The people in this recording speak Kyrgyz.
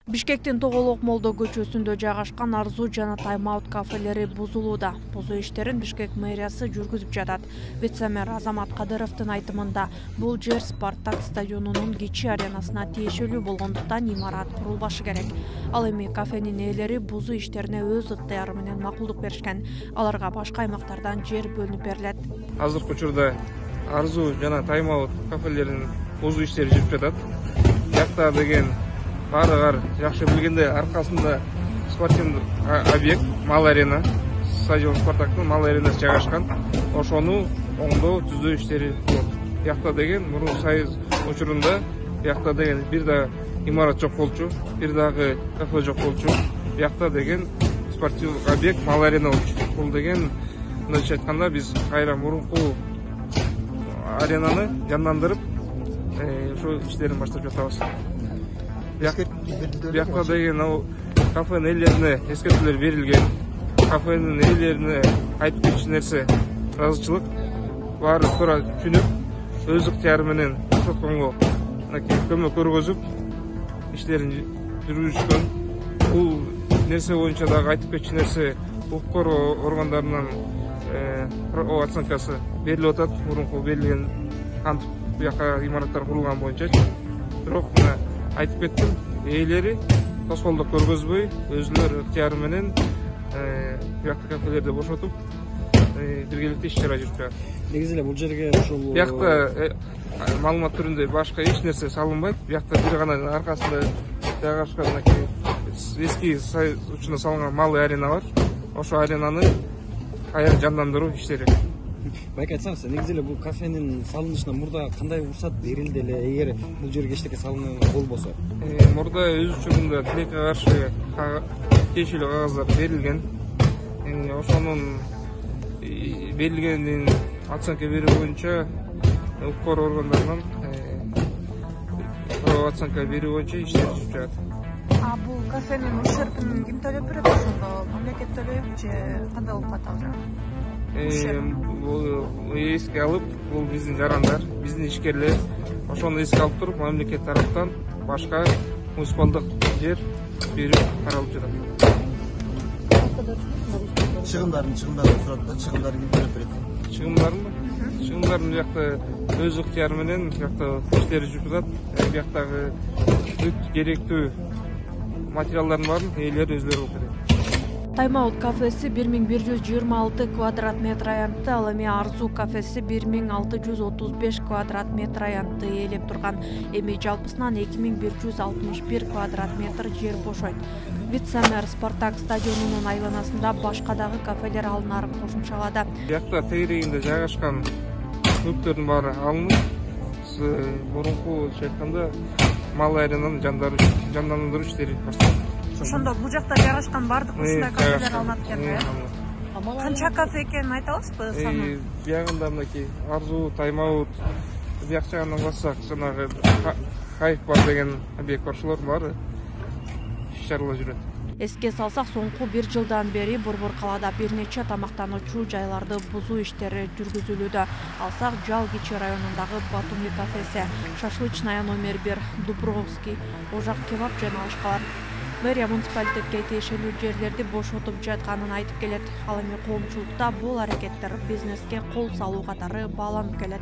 Бишкектин Тоголок Молдо көчөсүндө жайгашкан Арзу жана Тайм Аут кафелери бузулууда. Бузуу иштерин Бишкек мэриясы жүргүзүп жатат. Вице-мэр Азамат Кадыровдун айтымында, бул жер Спартак стадионунун кичи аренасына тиешелүү болгондуктан имарат курулбашы керек. Ал эми кафенин ээлери бузуу иштерине өз ыктыяры менен макулдук беришкен. Аларга башка аймактардан жер бөлүнүп берилет. Азыркы учурда Арзу жана Тайм Аут кафелеринин бузуу иштери жүрүп жатат. Бияқта деген баарыгар жакшы билгенде аркасында спортивдик объект Мал арена, стадион Спартактын Мал аренасы жайгашкан. Ошону оңдоо, түзөө иштери болот. Бияқта деген мурун Союз учурунда бияқта деген бир да имарат жок болчу, бир дагы кафе жок болчу. Бияқта деген спортивдик объект Мал арена болчу. Бул деген мындайча айтканда биз кайра мурунку аренаны жандандырып, ошо иштерин баштап жатабыз. Бияқта деген кафенин ээлерине эскертүүлөр берилген. Кафенин ээлерине айтып кетчү нерсе ыраазычылык. Баары туура түшүнүп, өз ыктыяры менен сотконго көмөк көргөзүп, иштерин жүргүзүшкөн. Бул нерсе боюнча дагы айтып кетчү нерсе укук коргоо органдарынан оценкасы берилип атат. Мурунку берилген кантип бияка имараттар курулган боюнча. Бирок мына айтып кеттим, ээлери тоскоолдук көргөзбөй, өзүлөр ыктыяры менен бияктагы кафелерди бошотуп, биргеликте иш чара жүрүп жатат. Негизи эле бул жерге ушул биякта маалымат түрүндө башка эч нерсе салынбайт. Биякта бир гана аркасында жайгашкан эски Союз учурунда салынган малый арена бар. Ошо аренаны кайра жандандыруу иштери. Байке айтсаңыз, негизи эле бул кафенин салынышына мурда кандай уруксат берилди эле, эгер бул жерге эчтеке салынган болбосо? Мурда өз учурунда тилекке каршы тиешелүү кагаздар берилген. Ошонун берилгенин оценка берүү боюнча укук коргоо органдарынан оценка берүү боюнча иштер жүрүп жатат. А бул кафенин ущербин ким төлөп берет ошондо? Мамлекет төлөйбү же кандай болуп калат ал? Эске алып, бул биздин жарандар, биздин ишкерлер. Ошону эске алып туруп, мамлекет тараптан башка муниципалдык жер берүү каралып жатат. Чыгымдарын сурат да, чыгымдарын ким төлөп берет? Чыгымдарын биякта өз ыктыяры менен биякта иштери жүрүп жатат. Бияктагы бүт керектүү материалдардын баарын ээлери өзүлөрү болуп берет. Тайм Аут кафеси 1126 квадрат метр аянтты, ал эми Арзу кафеси 1635 квадрат метр аянтты ээлеп турган. Эми жалпысынан 2161 квадрат метр жер бошойт. Вице-мэр Спартак стадионунун айланасында башка дагы кафелер алынаарын кошумчалады. Биякта тегерегинде жайгашкан мүлктөрдүн баары алынып, мурунку айтканда мал аренаны жандандыруу иштери башталды. Ошондо бул жакта жайгашкан бардык ушундай кафелер алынат экен. Канча кафе экенин айта аласызбы санын? Биягында мынакей Арзу, Тайм Аут, бияк жагынан бассак, жанагы Хайп бар деген объект бар, ошолор баары иш чаралар жүрөт. Эске салсак, соңку 1 жылдан бери Борбор калаада бир нече тамактануучу жайларды бузуу иштери жүргүзүлүүдө. Алсак, Жал кичи районундагы Батуми кафеси, Шашлычная номер 1, Дубровский, Ожак кебаб жана башкалар. Мэрия муниципалитетке тиешелүү жерлерди бошотуп жатканын айтып келет. Ал эми коомчулукта бул аракеттер бизнеске кол салуу катары бааланып келет.